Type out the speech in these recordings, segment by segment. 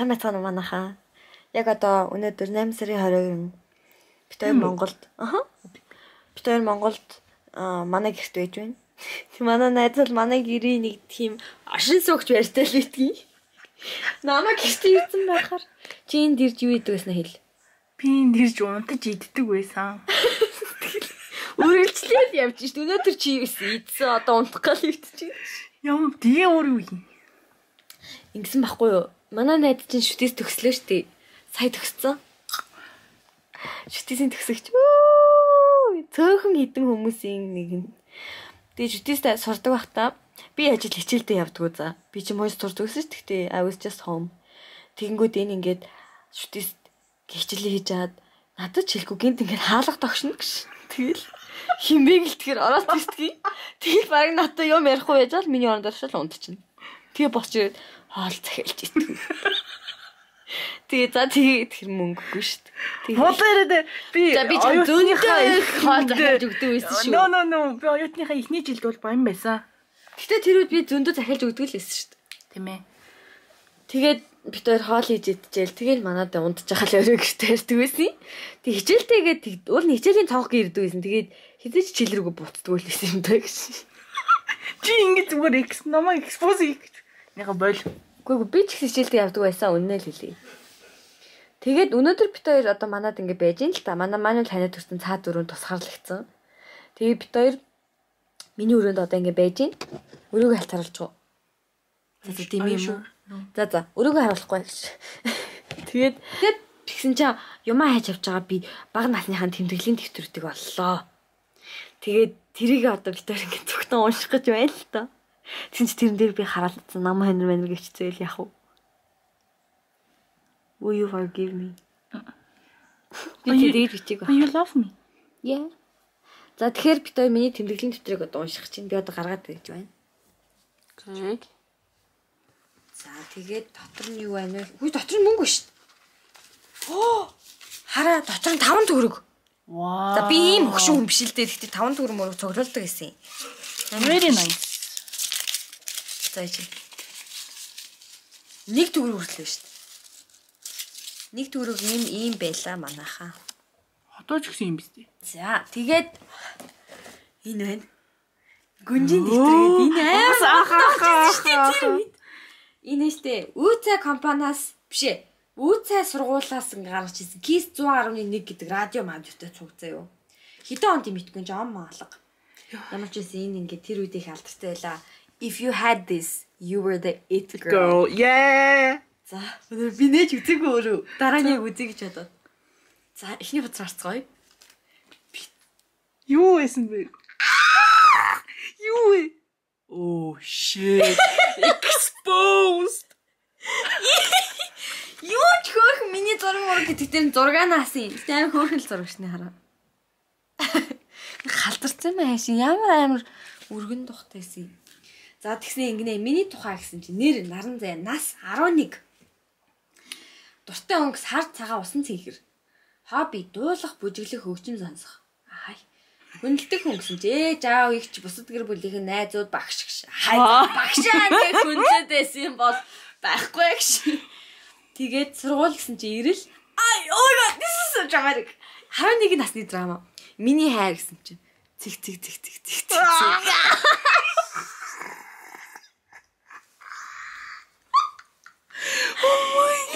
сайн байцгаана уу манайхаа. Яг одоо өнөөдөр 8 сарын 20-нд бид хоёр Монголд бид хоёр Монголд манай гэрт байж байна. Манай найз бол манай гэрийн нэг тийм ашин суугч байртай л битгий. Намайг гэрт ирсэн байхаар чи энд ирж юу идэг гэсэн хэл. Би энд ирж унтаж иддэг байсан. Үргэлжлээд явж шít. Өнөөдөр чи юу идсэн одоо унтах гал ивтчих. Юм тэгээ өөр юу юм. Ингэсэн байхгүй юу? Манай найз чинь шүтээс төгслөө штэ. Сая төгссөн. Шүтээсийн төгсөгч. Цөөхөн хідэн хүмүүсийн нэг нь. Тэгээ шүтээсээ сурдаг байхдаа би ажил хичээлдээ явдаг уу за. Би чи мойс сурдаг гэсэн ч гэхдээ I was just home. Тэгэнгүүт энэ ингээд шүтээс хичээлээ хийж чаад надад ч хэлэхгүй гинт ингээд хаалга тогшно гэж. Тэгэл химбэг л тэгэхээр ороод ирсдгийг. Тэгэл баг надад юм ярихгүй байж л миний оронд оршил унтчихна. Тэгээ босч ирээд хоол захиалж идэх. Тэгээ за тэгээ тэр мөнгөгүй шүү дээ. Модерэд би зөөнийхөө хоол захиалж өгдөг байсан шүү. No. Би оюутныхаа эхний жилд бол баян байсан. Гэтэ тэр үед би зөндөө захиалж өгдөг л байсан шүү дээ. Тийм ээ. Тэгээд бид хоёр хоол хийж идчихэл тэгэл манад унтчих хал өрөө гэртээ ярьдаг байсан. Тэг хичээлтэйгээд уул нь хичээлийн цонх гэрдэг байсан. Тэгээд хэзээ ч хичээл рүүгээ буцдаг л байсан юм даа гэж. Чи ингэ зүгээр намайг экспоз хийх гэж. Яга бойл. Үгүй би ч хичээлдээ явдаг байсан үнэ л хэлье. Тэгээд өнөөдөр бид хоёр одоо манад ингэ байж ин л та. Манай танид төрсэн цаа дөрөв тусгаарлагдсан. Тэгээд бид хоёр миний өрөөнд одоо ингэ байж ин. Өрөөгөө халтаруулж гоо. За тийм юм. За өрөөгөө харуулахгүй гэж. Тэгээд тэгсэн чинь юмаа хайж авч байгаа би бага насныхаа тэмдэглэлийн дэвтрүүдийг боллоо. Тэгээд тэрийг одоо бид хоёр ингэ зөвхөн унших гэж байна л та. Тэгсэн чи тэрэн дээр би хараалцсан нам ханер гэвчихвэл яах вэ? Will you forgive me? Би тэгээд бичиг ба. You love me. Yeah. За тэгэхээр бид хоёр миний тэмдэглэлийн дэвтрийг одоо унших чинь би одоо гаргаад байж байна. Okay. За тэгээд дотор нь юу байна вэ? Хүй дотор нь мөнгө шүү дээ. Оо! Хараа дотор нь 5 төгрөг. Wow. За би ийм хөгшин хүн биш л дээ. Гэхдээ 5 төгрөг мөрөг цуглуулдаг гэсэн. Very nice. За чи. 1 төгрөг хүртэл шүү дээ. 1 төгрөг ийм байла манайхаа. Одоо ч гэсэн юм биз дээ. За тэгээд энэ байна. Гүнжин дэвтэргээд энэ амар энэ штэ үүцай компаниас бишээ. Үүцай сургуулаас гаргаж ирсэн KISS 100.1 гэдэг радио мандуутай цугцаа юу. Хэдэн онд юм итгүй жоо маалга. Ямар ч байсан энэ ингээд тэр үед их алдартай байла. If you had this, you were the it girl. Yeah. За би нээж үзээгүй өөрөө. Дараа нь яг үзье гэж бодоод. За эхний хуцаар харцгаая. Юу байсан бэ? Юу вэ? Oh shit. Exposed. Юу ч хөөх миний зураг гэдэг дээр зургаанаас юм. Амар хөөхөн л зурагчны хараа. Халдарсан маяг шин ямар өргөн тухтайсэн. За тэгсэн ингэнэ миний тухай гэсэн чинь нэр наран зай нас 11. Дуртай өнгөс хар цагаан усан цэнхэр. Хобби дуулах, бүжиглэх, хөгжим сонсох. Хай. Хүндэлдэг хүн гэсэн чи жаав ихч бусад гэр бүлийнхэн найзууд багш гэж. Хай. Багшаа нэг хүндэд байсан юм бол байхгүй гэж. Тэгээд сургууль гэсэн чи ирэл. Ай, oh my god, this is so dramatic. 11 насны драма. Миний хайр гэсэн чи. Цэг.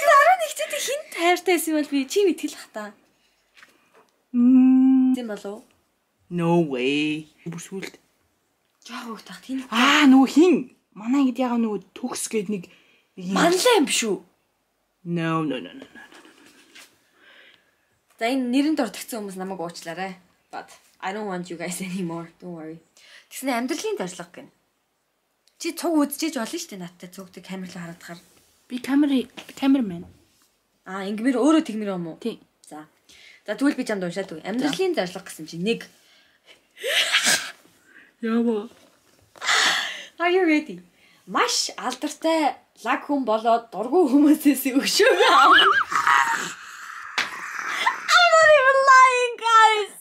Дараа нэг ч хинт хайртай байсан бол би чи мэтгэл хата. Зэн болов? No way. Бүсгүүлд. Жаа хөөх тах тийм. Нөгөө хин. Манай ингэ яга нөгөө төгс гээд нэг манлаа юм биш үү? No. За энэ нэрэнд ордогцсон хүмүүс намайг уучлаарай. But I don't want you guys anymore. Don't worry. Тэгснэ амьдралын зорилго гэнэ. Чи цуг үзчихэж болно шүү дээ надтай цугдаг камерлаа хараадахаар. Би камермен. Ингэмэр өөрөө тэгмэр юм уу? Тий. За тэгвэл би чамд уншаад үгүй. Амьдралын зорилго гэсэн чинь 1. Яава. Are you ready? Маш алдартай лаг хүн болоод дургүй хүмүүсээс өгшөөг аав. I'm not even lying, guys.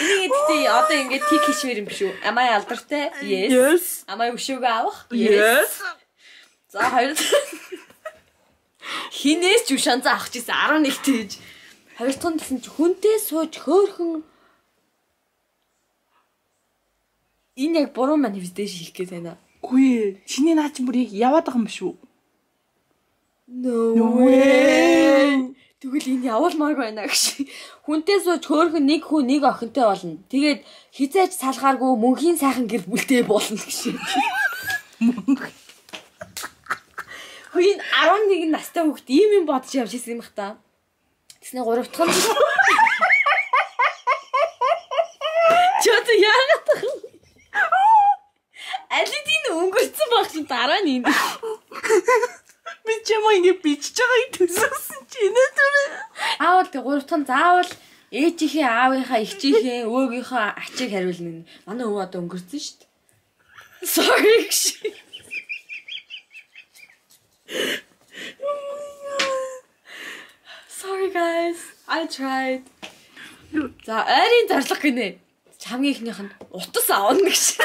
Энийг одоо ингээд тик хийшмээр юм биш үү? Am I алдартай? Yes. Am I өшөөг аавах? Yes. За хоёр хинээс ч шанс авах гэсэн 11 тэгж. Хоёр дахь нь гэсэн чи хүнтэй сууж хөөхөн энэ яг буруу манифесташн хийх гэж байна. Үгүй ээ. Чиний наа чи бүр яг яваад байгаа юм биш үү? No way. Тэгвэл энэ явуулмаар байна гэж. Хүнтэй сууж хөөхөн нэг хүн нэг охинтой болно. Тэгээд хизээж салгааргүй мөнхийн сайхан гэр бүлтэй болно гэж. Хин 11 настай хүүхд ийм юм бодож явж ирсэн юм бах та. Тэснэ 3 дахь нь чот яагаад тах. Алидин өнгөрцөн баг чи дараа нь. Би чамаа ингэ бичиж байгааг төсөөсөн чи нэ түр. Аавал тэг 3 дахь нь заавал ээжийнхээ аавынхаа эгчийнхээ өвөөгийнхөө ачийг хариулна. Манай өвөө одоо өнгөрцөн шүү дээ. Sorry гэж. Sorry guys. I tried. За ойрын зарлах гинэ. Хамгийн ихнийх нь утас аавна гэж.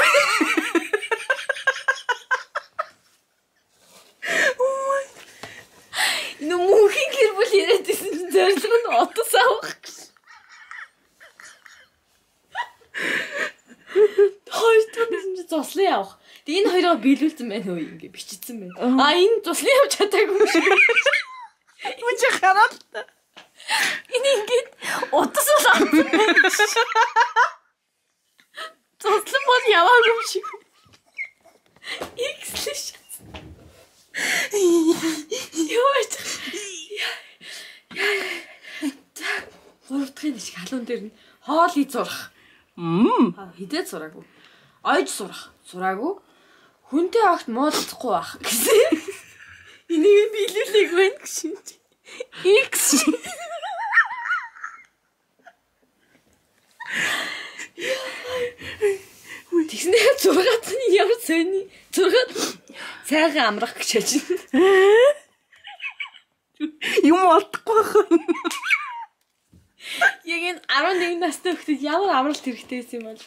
Нүмүхийн гэр бүл ирээдсэн чинь зорилго нь утас авах гэж. Хоёр дахь нь зослын явах. Тэгээ энэ хоёроо биелүүлсэн байна уу ингэ бичсэн байна. Энэ зослын явж чадаагүй шүү. Үгүй хараад. Энэ ингээд утас авах. Зослон бол яваагүй юм шиг. X-лэш. Яа. Гуравдахын шиг халуун дээр нь хоол ий зурах. Хидээд сураагүй. Ойж сурах. Сураагүй. Хүнтэй огт муудахгүй байх гэсэн. Энийг биелүүлээг байна гэсэн. X. Тэгснээр 6-аад нь ямар сони 6-аад сайхан амрах гэж байна. Юм олдохгүй байна. Яг энэ 11 настай хүүхдэд ямар амралт хэрэгтэй байсан юм бол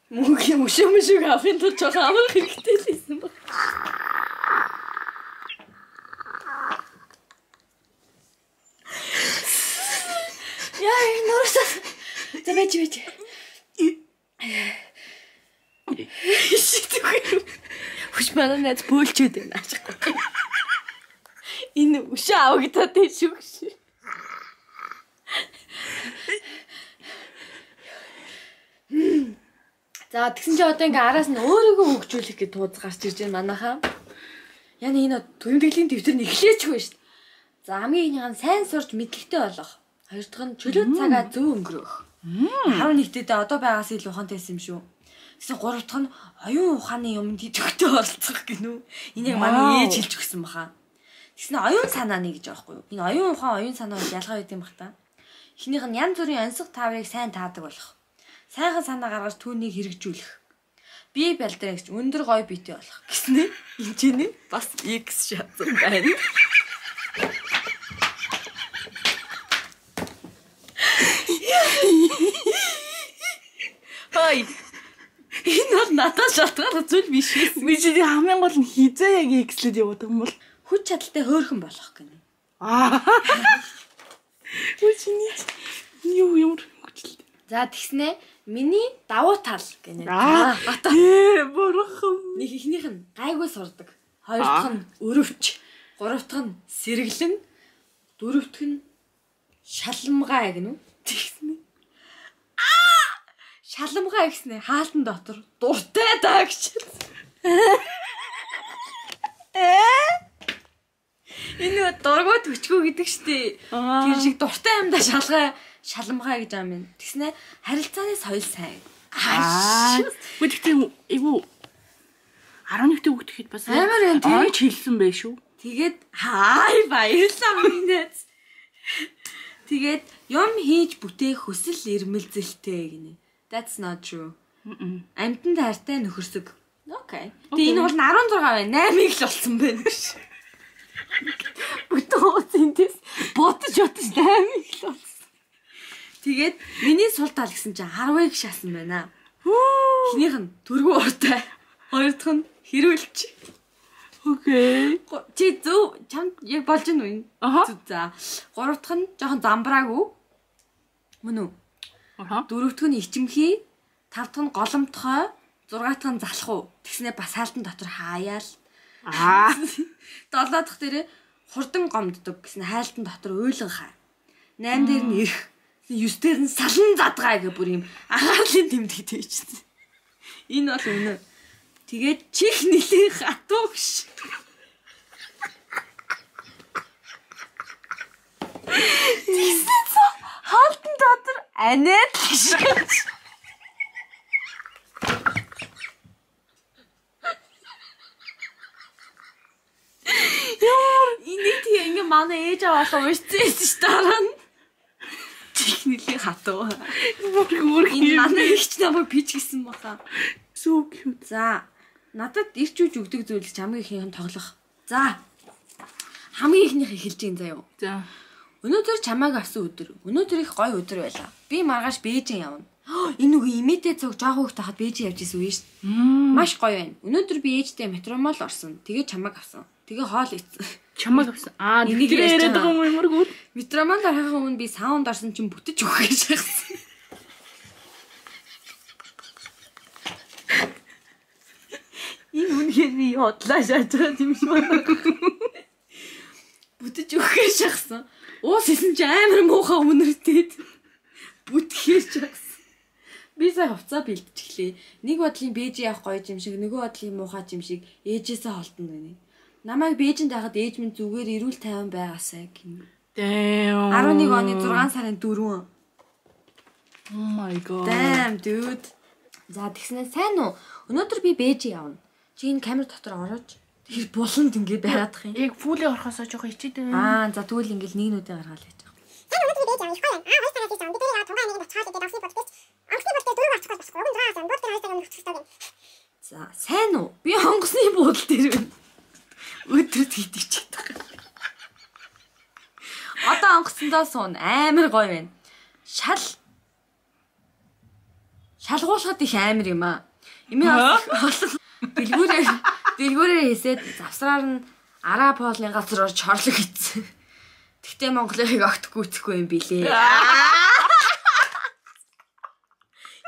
мөнгө мөшөө авахын тулд жоохон амрах хэрэгтэй байсан баг. Яа, нуурсаа. Тэвэж. Ишигтэй. Хүч манай найз бөөлчөөд байна. Энэ өшөө авагдаад тийм шүү. За тэгсэн чи одоо ингээ араас нь өөрийгөө хөгжүүлэх гэж тууз гарч ирж байна манайхаа. Яна энэ төрөмтгөлийн дэвтэр нь эхлээчгүй шүү. За хамгийн ихнийх нь сайн сурч мэдлэгтэй болох. Хоёр дахь нь чөлөө цагаа зөв өнгөрөөх. 11-д одоо байгаас илүү ухаантайсэн юм шүү. Тэгсэн 3 дахь нь оюун ухааны юмд идэвхтэй оролцох гинүү. Энэ яг манай ээж хэлж өгсөн баха. Тэгсэн оюун санааны гэж аахгүй юу? Энэ оюун ухаан оюун санаа гэж ялгаа өгд юм бах та. Эхнийх нь янз бүрийн онцлог тааврыг сайн таадаг болох. Сайхан санаа гаргаж түүнийг хэрэгжүүлэх. Бие бэлдрэгч өндөр гой биетэй болох гэснэ. Энд чинь бас X шатсан байна. Хай. Энэ бол надад шалтгаалсан зүйл биш ээ. Би чи хамгийн гол нь хизээ яг X-лэд яваад байгаа юм бол хүч чадалтай хөөрхөн болох гэнэ. Үгүй чиний юу ямар хүчлээ. За тэгснэ миний давуу тал гэнэ. Бурхан. Нэг ихнийх нь гайгүй сурдаг. Хоёр дахь нь өрөвч. Гурав дахь нь сэргэлэн. Дөрөв дахь нь шалмгай гэнэ. Тэгснэ. Шалмгай гэснэ хаалтан дотор дуртай даа гэж. Энэ дургуй төчгөө гэдэг штеп. Тэр шиг дуртай юмдаа шалмгай гэж юм. Тэгснэ харилцааны соёл сайн. Гэхдээ эвгүй 11-т хүүхэд бас амар энэ ойч хэлсэн байх шүү. Тэгээд хай баярлалаа минь. Тэгээд юм хийж бүтээх хүсэл эрмэлзэлтэй гинэ. That's not true. Амьтанд хайртай нөхөрсөг. Okay. Тэгээ энэ бол 16 байна. 8-ыг л болсон байна гэж. Бүтэн зинтэс бодож 8-ыг л болсон. Тэгээд миний сул тал гэсэн чинь 10-ыг шаасан байна. Эхнийх нь төргөө уртай. Хоёр дахь нь хэрүүлж. Окей. Чи зөв чамд яг болж гэнэ үү? Зүг за. 3 дахь нь жоохон замбраагүй. Мөн үү? Дөрөв дахь нь ичимхий, 5 дахь нь голомтгой, 6 дахь нь залхуу. Тэгснэ бас хаалтан дотор хаяал. 7 дахь дээрээ хурдан гомддог гэсэн хайлтан дотор уйлан хаа. 8 дээр нь ирэх. 9 дээр нь салан задгаа гэх бүр юм анхаарлын тэмдэгтэй чинь. Энэ бол үнэ. Тэгээд чих нэлээ хатуу биш. Тэгсэн хаалтан дотор анаад гэж. Энийг тийм ингээ манай ээж аваалаа уурцсан ш дараа нь. Чихнэлийн хатуу. Энэ манай ихч намайг пич гисэн баха. So cute. За, надад ирч үж өгдөг зүйл хамгийн ихийнх нь тоглох. За. Хамгийн ихнийх эхэлж гин заяа. За. Өнөөдөр чамааг авсан өдөр. Өнөөдөр их гоё өдөр байлаа. Би маргааш Бээжин явна. Энэ үгүй имэтэ цог жоох хөхт хахад Бээжин явж исэн үе шүү дээ. Маш гоё байна. Өнөөдөр би ээжтэй метромол орсон. Тэгээ чамааг авсан. Тэгээ хоол ийцэн. Чамааг авсан. Энийг яриад байгаа юм юмргүй. Метромол орохын өмнө би саунд орсон чинь бүтэж өгөх гэж шахсан. Энэ үнхээр би хотлаа шааж байгаа юм шиг байна. Бүтэж өгөх гэж шахсан. Уус исэн чи амар муухай үнэртээд бүтгэхээ шахсан. Би сая хувцаа бэлтчихлээ. Нэг бодлын Бээжин явах гоё юм шиг, нөгөө бодлын муухай юм шиг ээжээсээ холдно гэнэ. Намайг Бээжинд байхад ээж минь зүгээр эрүүл тайван байгаасай гэнэ. Damn. 11 оны 6 сарын 4. Oh my god. Damn dude. За тэгснэ сайн уу? Өнөөдөр би Бээжин явна. Чи энэ камер дотор орооч. Тэр буланд ингэ байгаадах юм. Яг фүлээ орохосоо жоохон ичээд За байна. тэгвэл ингээл нэгнүүдээ гаргаал гэж байгаа. Сайн өнөөдөр би Бээжин явах гоё. Хоёр цагаас ирсэн. Би тэрийг тунгаа нэг боцоод тэгээд авсан бодчих. Онгоцны бодтой дөрөв ачих болох. Уг нь дураас юм. Бүгд тэр хоёр цаг өмнө хөцөж таг. За сайн уу? Би онгоцны буудал дээр байна. Өдрөд хийдэгчээд байгаа. Одоо онгоцсондоо суун амар гоё байна. Шалгуулахад их амар юм аа. Эмээ олон дэлгүүрээр хийсээд завсраар нь араа полын газар орж хорлог хийцэн. Тэгтээ Монголыг огт гүйцэхгүй юм билээ.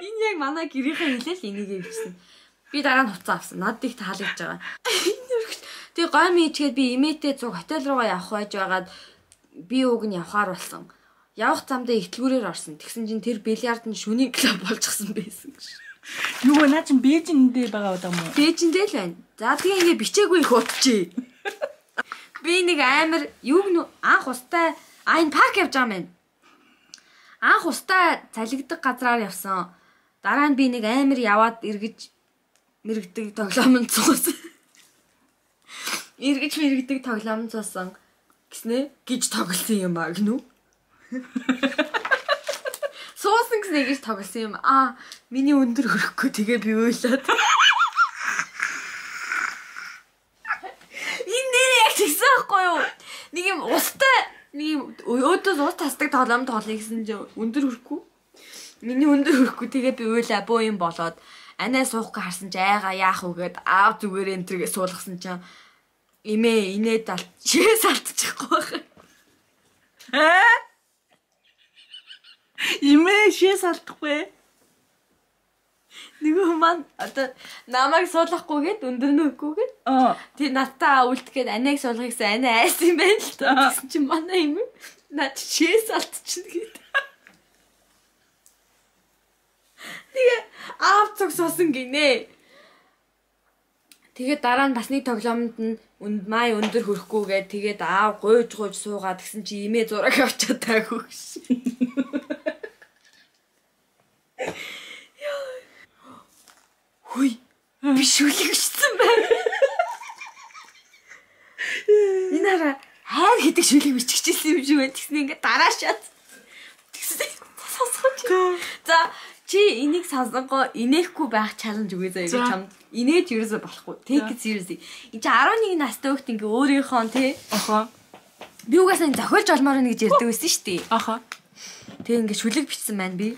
Энэ яг манай гэрийнхээ хэлэл энийг хэлсэн. Би дараа нь хуцаа авсан. Надад их таалагдж байгаа. Тэгээ гой мичгээд би имээтэй цуг хотел руугаа явах байж байгаад би уг нь явахаар болсон. Явах замдаа ихтлгүүрээр орсон. Тэгсэн чинь тэр бильярд нь шүний клуб болчихсон байсан гэж. Юу наа чи Бээжиндээ байгаа удаа мó? Бээжиндээ л байна. За тэгээ ингээ бичээгүй их утчи. Би нэг амар юуг нь анх устай энэ парк явж байгаа юм. Анх устай цалигдаг газраар явсан. Дараа нь би нэг амар яваад эргэж мэрэгдэг тоглоомд цуусан. Эргэж мэрэгдэг тоглоомд цуусан гэснэ гэж тоглосон юм аа гинүү. Суусан гэснэ гэж тоглосон юм. Миний өндөр хөрөхгүй тэгээ би уйлаад. Энэ нэр яг тэгсэн байхгүй юу? Нэг юм устай нэг юм өөдөөс ус тасдаг тоглоом тоглоё гэсэн чинь өндөр хөрөхгүй. Миний өндөр хөрөхгүй тэгээ би уйлаа бөө юм болоод анаа суухгүй харсан чи айгаа яах үгээд аав зүгээр энтергээ суулгасан чинь имээ инээд чээс алдчихгүй байх. Имээ шээс алдахгүй. Нөгөө маань одоо намайг суулгахгүйгээд өндөр нөхгүйгээд тий надтаа үлдэхэд анааг суулгах гэсэн анаа айс юм байна л та. Гэсэн чинь манай юм над шээс алдчихна гэдэг. Тэгээ аав цог суусан гинэ. Тэгээ дараа нь бас нэг тоглоомд нь май өндөр хөрөхгүйгээд тэгээд аав гуйж суугаад гэсэн чи имээ зураг авчаад таагүй ш. Хүй биш үлэгчсэн байна. Энэ хараа хайр гэдэг шүлэг биччихсэн юм шиг байна. Тэгснэ ингээд дараашаад. Тэгснэ сонсгоч. За чи энийг сонсонгоо инехгүй байх чаленж үгүй заяа гэж чамд инээж ерөөсө болохгүй. Take it seriously. Энд чи 11 настай хөлт ингээ өөрийнхөө тий. Би угаасаа зохиолж олмоор нэ гэж ярьдаг байсан шүү дээ. Аха. Тэг ингээ шүлэг бичсэн байна би.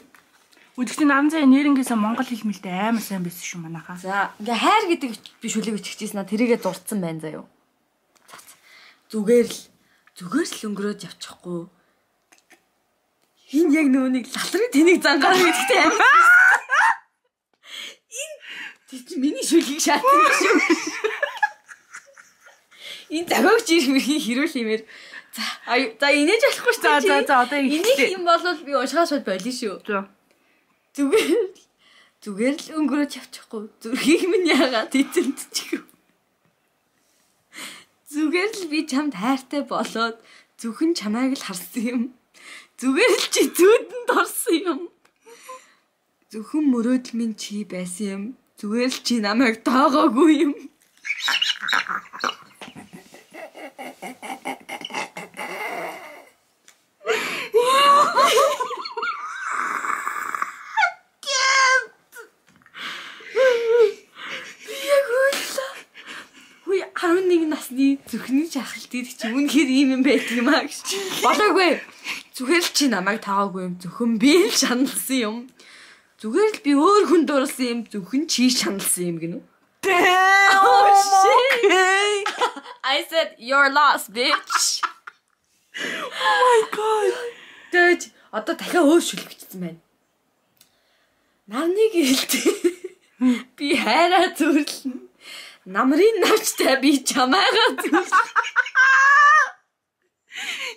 Үдгтийн наран цай нэрнгээсээ монгол хэл мэлтэй амар сайн байсан шүү манайхаа. За ингээ хайр гэдэг би шүлэг өччихжсэн тэрийгээ дурдсан байна заяа. Зүгээр л өнгөрөөд явчихгүй. Хин яг нөөнийг лалрын тэнийг зангаар гэдэгтэй амар. Энэ чи миний шүлгийг шаатсан шүү. Энэ загогч хэрүүл юмэр. За инээж болохгүй шүү. За одоо инех юм бол би уншихаас бол болно шүү. Зүгээр л өнгөрөөж явчихгүй. Зүрхийг минь яагаад эзэмдчихв. Зүгээр л би чамд хайртай болоод зөвхөн чамайг л харсан юм. Зүгээр л чи зүүдэнд орсон юм. Зөвхөн мөрөөдөл минь чи байсан юм. Зүгээр л чи намайг тоогоогүй юм. Насны зүрхний жахалтыг чи үнэхээр ийм юм байдаг юм аа гэж. Болоогүй. Зүгээр л чи намайг таагүй юм. Зөвхөн би л шаналсан юм. Зүгээр л би өөр хүн дурлсан юм. Зөвхөн чи шаналсан юм гинүү. Oh shit. I said you're lost bitch. Oh my god. Тэгэж одоо дахиад өөр шүлгэгдсэн байна. Нарны гэлтэй. Би хайраа зүрлэн. Намрын навчтай би чамайгаа зүр.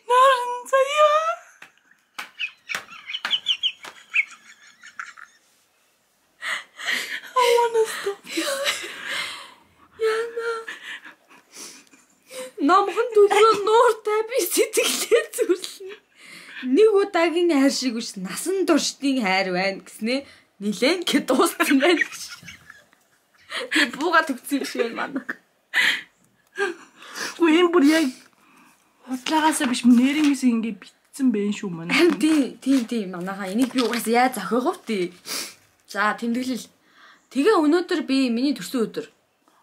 Наран заяа. I wanna stop. Яна. Намхан дөрөв нууртай би сэтгэлээ зүрлэн. Нэг удаагийн хайр шиг биш насан туршдын хайр байна гэснээ нилээн гэ дууссан байна гэж. Би бууга төгсөн шиг байна. Үгүй бүр яг хутлаагаасаа биш нэрнээс ингэ битсэн байх шүү манай. Тийм манайхаа энийг би угаасаа яаж зохиогов тий. За тэмдэглэл. Тэгээ өнөөдөр би миний төрсөн өдөр.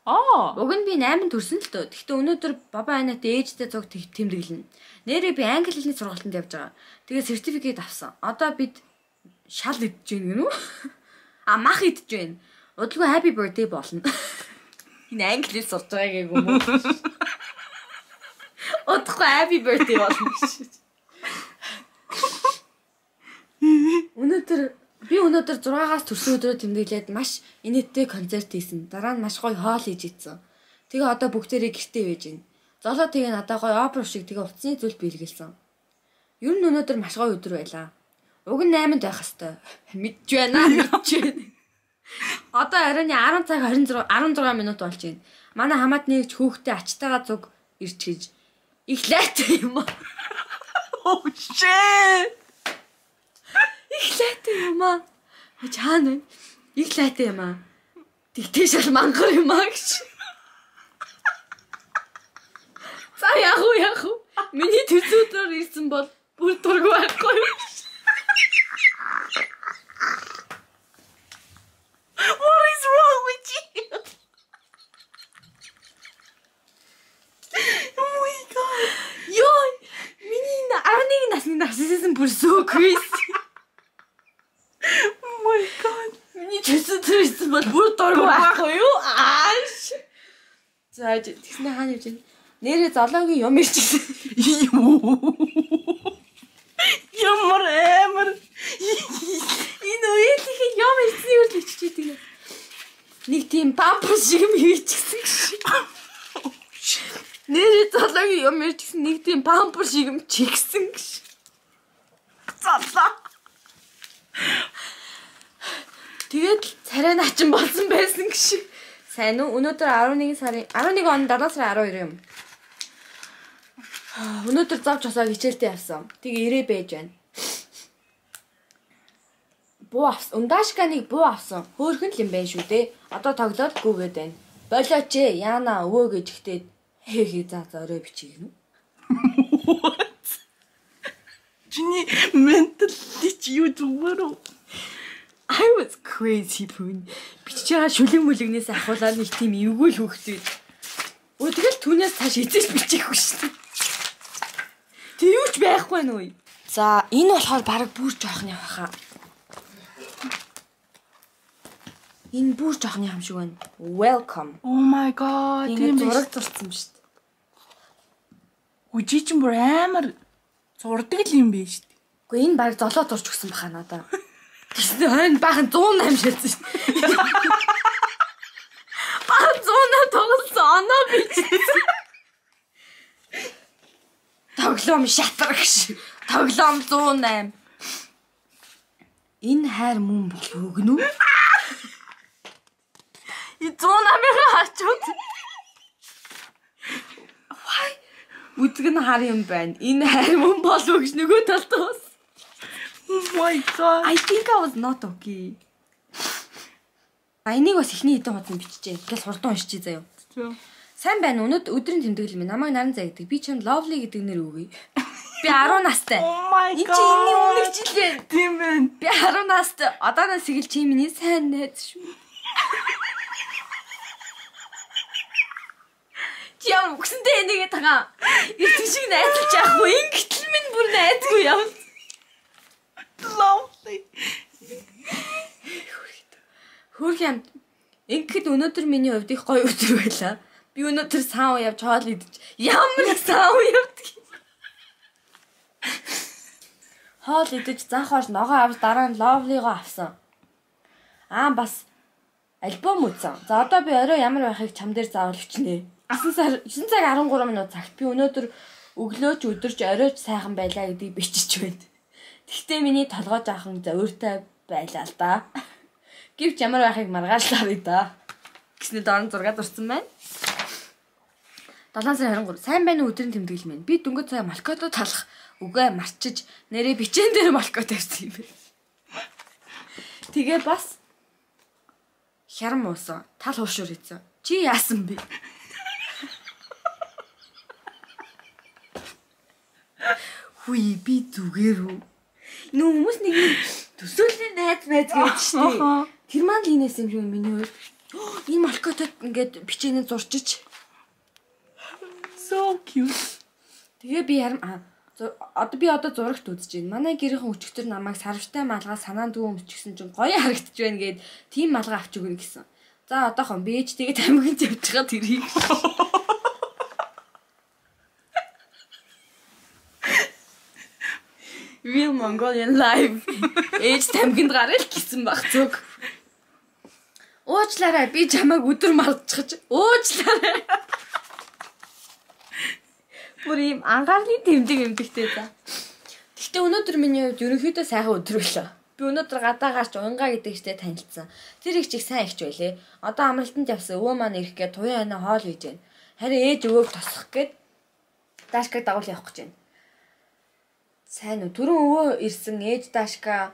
Уг нь би 8 төрсөн л дөө. Гэхдээ өнөөдөр баба анаад ээжтэй цог тэмдэглэнэ. Нэрээ би англи хэлний сургалтанд явж байгаа. Тэгээ сертификат авсан. Одоо бид шал идэж гин гэнэ үү? Мах идэж байна. Удалгүй happy birthday болно. Энэ англиэр сурж байгааг юм уу? Удалгүй happy birthday болно гэж. Өнөөдөр 6-аас төрсөн өдрөө тэмдэглээд маш инээдтэй концерт хийсэн. Дараа нь маш гоё хоол хийж идсэн. Тэгээ одоо бүгдээрээ гэртээ байж байна. Золоо тэгээ надаа гоё опера шиг тэгээ утасны зүйл биелгэлсэн. Ер нь өнөөдөр маш гоё өдөр байлаа. Уг нь 8-нд байх хэвээр. Мэдж байна. Одоо арайны 10 цаг 16 минут болж байна. Манай хамаад нэгж хүүхдээ ачтайгаа зүг ирч гэж их лайтай юм аа. Oh shit. Их лайтай юм аа. Чаана. Их лайтай юм аа. Тэгтээ шал мангар юм аа гэж. За яг уу. Миний төсөөдөр ирсэн бол бүр дургүй байхгүй юу? What is wrong with you? Oh my god. Ёй, миний 11 насны нарциссизм бүр so crazy. Oh my god. Миний төсөөдөр ирсэн бол бүр дургүй байхгүй юу? Ааш. За тэгснэ хаана явж байна? Нэрээ золоогийн юм ирчихсэн. Ямар амар. Энэ үеийн юм ирсэн юу л иччихдэг. Нэг тийм памперс шиг юм хийчихсэн. Нэрээ золоогийн юм ирчихсэн нэг тийм памперс шиг юм чигсэн гэж. Залаа. Тэгээд царай наачин болсон байсан гэж. Сайн уу? Өнөөдөр 11 он 7 сарын 12 юм. Өнөөдөр завж осоо хичээлдээ явсан. Тэгээ ирээ байж байна. Буу авсан. Ундаашканыг буу авсан. Хөөхөн л юм байна шүү дээ. Одоо тоглоод гүгээд байна. Болооч ээ. Яана өвөө гэж ихтэй хээ за орой бичиг гэнэ. What? Чиний менталич юу зүгээрөө? I was crazy пүн. Бичиж байгаа шүлэг мүлэгнээс ахуулаад нэг тийм эвгүй л хөөхтэй. Тэгэл түүнээс цааш эзэж бичихгүй шүү дээ. Тэг юуч байхгүй нөө. За энэ болохоор баг бүр жоохон явахаа. Энэ бүр жоохон юм шиг байна. Welcome. Oh my god. Тийм зураг зурсан юм шүү дээ. Үжи чинь бүр амар зурдаг л юм бэ шүү дээ. Гэхдээ энэ баг золоо зурч өгсөн баха надаа. Тэгсэн хойно баахан 108 шилсэн шүү дээ. Баахан 108 тоглосон оноо бич. Тоглоом шатрагш. Тоглоом 108. Энэ хайр мөн бол өгнө үү? И 108-ыг хачууд. Вай. Үзэг нь хар юм байна. Энэ хайр мөн бол өгч нөгөө талдаас. Oh my god. I think I was not okay. Энийг бас ихний хэдэн хуудас биччихээ. Ингээл хурдан уншчихъя заяа. Сайн байна. Өдрийн тэмдэглэл минь намайг наран заа гэдэг. Би чинь lovely гэдэг нэр өгье. Би 10 настай. Oh my god. Энд чи энэний үнэг жилээ. Тийм байна. Би 10 настай. Одооноос эхэл чи миний сайн найз шүү. Чи ямар үгсэнтэй энийгээ тагаа. Иртэг шиг найзалж яахгүй. Ингэтэл минь бүр найзгүй юм. Lovely. Хөрх юм. Ингэхэд өнөөдөр миний хувьд их гоё өдөр байлаа. Би өнөөдөр саав явж хоол идэж ямар саав явдаг. Хоол идэж занхаар ногоо авч дараа нь lovely-го авсан. Бас альбом үзсэн. За одоо би орой ямар байхыг чам дээр заавал өчнэ. 9 цаг 13 минут цагт би өнөөдөр өглөөч өдөрч оройч сайхан байлаа гэдгийг бичиж байна. Гэхдээ миний толгой жаахан зөөртэй байлаа л да. Гэвч ямар байхыг маргааллаа да. Гэснээр дорн зураг зурсан байна. 7 сарын 23 сайн байна уу өдрийн тэмдэглэл минь. Би дөнгөж цаа малкото талах үгээ марчиж нэрээ бичэн дээр малко тавьсан юм байна. Тэгээ бас хярам уусан. Тал хуушур хийсэн. Чи яасан бэ? Хүй би зүгээр үү? Нүү хүмүүс нэг төсөөллийн найз гэж штэ. Тэр маань л инээс юм шиг миний хувьд. Энэ малкотод ингээд бичээний зурчиж. So cute. Тэгээ би одоо зурагт үзэж байна. Манай гэрийнхэн өчигдөр намайг сарвтай малгай санаанд дүү өмчгсөн чинь гоё харагдаж байна гэд тийм малгай авч өгнө гэсэн. За одоохон би ээж тэгээд амьганд явж байгаа тэрийг. Real Mongolian live. Ээж тамгинд гараа л гисэн баг зүг. Уучлаарай би чамайг өдөр мартчихж. Уучлаарай. Бүр юм анхаарлын тэмдэгтэй за. Гэхдээ өнөөдөр миний хувьд ерөнхийдөө сайхан өдөр байлаа. Би өнөөдөр гадаа гарч унгаа гэдэг ихтэй танилцсан. Тэр их чиг сайн ихч байлээ. Одоо амралтанд явсан өвөө маань ирэх гээд туяа ханаа хоол хийж байна. Харин ээж өвөөг тосох гээд Дашкаг дагуул явах гэж байна. Сайн уу? Түрүүн өвөө ирсэн ээж Дашка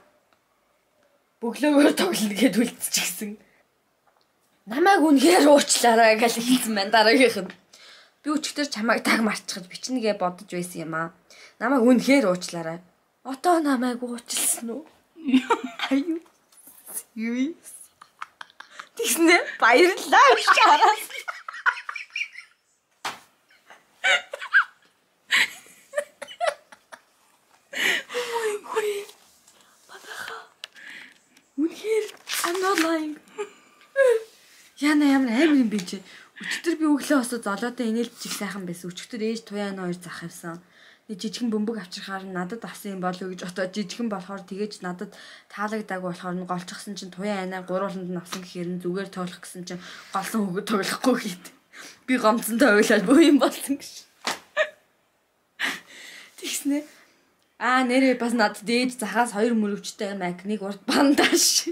бөглөөгөөр тоглоно гэд үлдчихсэн. Намайг үнэхээр уучлаарай гэж хэлсэн байна дараагийнх нь. Би өчигдөр чамайг таг марччихад бичнэгээ бодож байсан юм аа. Намайг үнэхээр уучлаарай. Одоо намайг уучлсан уу? Аюу. Юу? Тэгснэ баярлалаа шараас. Үнэхээр I'm not lying. Яна ямар амар юм бэ чи? Өчигдөр би өглөө осоо золоотой инээлж чих сайхан байсан. Өчигдөр ээж туяа нөө хоёр зах авсан. Нэг жижигэн бөмбөг авчирхаар надад авсан юм болов уу гэж бодоод жижигэн болохоор тэгээж надад таалагдаагүй болохоор нь голчихсан чинь туяа анаа гурвууланд нь авсан гэхээр нь зүгээр тоолох гэсэн чинь голсон хөгөө тоглохгүй гээд. Би гомцонтой ойлаад бөө юм болсон гэж. Тэгснэ. Нэрээ бас надад ээж захаас 2 мөрөвчтэй маяг нэг урд бандаж.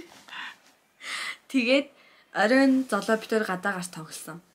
Тэгээд оройн золоо битээр гадаа гарч тоглосон.